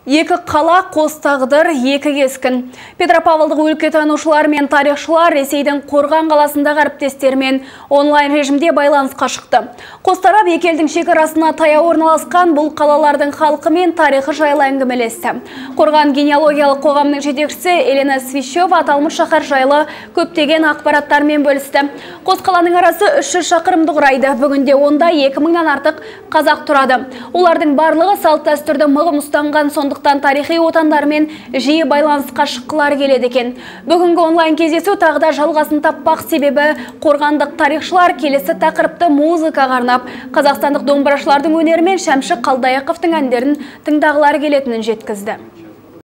Екі қала, қос тағдыр, екі кескін. Петропавлдық өлкетанушылар мен тарихшылар Ресейдің Қорған қаласындағы әріптестерімен онлайн режимде байланысқа шықты. Қос тарап екі елдің шекарасына таяу орналасқан бұл қалалардың халқы мен тарихы жайлы әңгімелесті. Қорған генеалогиялық қоғамның жетекшісі Елена Свищева аталмыш шаһар жайлы көптеген ақпараттармен бөлісті. Қос қаланың арасы 300 шақырымды құрайды. Бүгінде онда 2000-нан артық қазақ тұрады. Олардың барлығы салт дәстүрді мығым ұстанған, сондықтан тарихи отандармен жиі байланысқа шыққылары келеді екен. Бүгінгі онлайн кездесу тағы да жалғасын таппақ, себебі қорғандық тарихшылар келесі тақырыпты музыкаға арнап, қазақстандық домбырашылардың өнері мен Шәмші Қалдаяқовтың әндерін тыңдағылары келетінін жеткізді.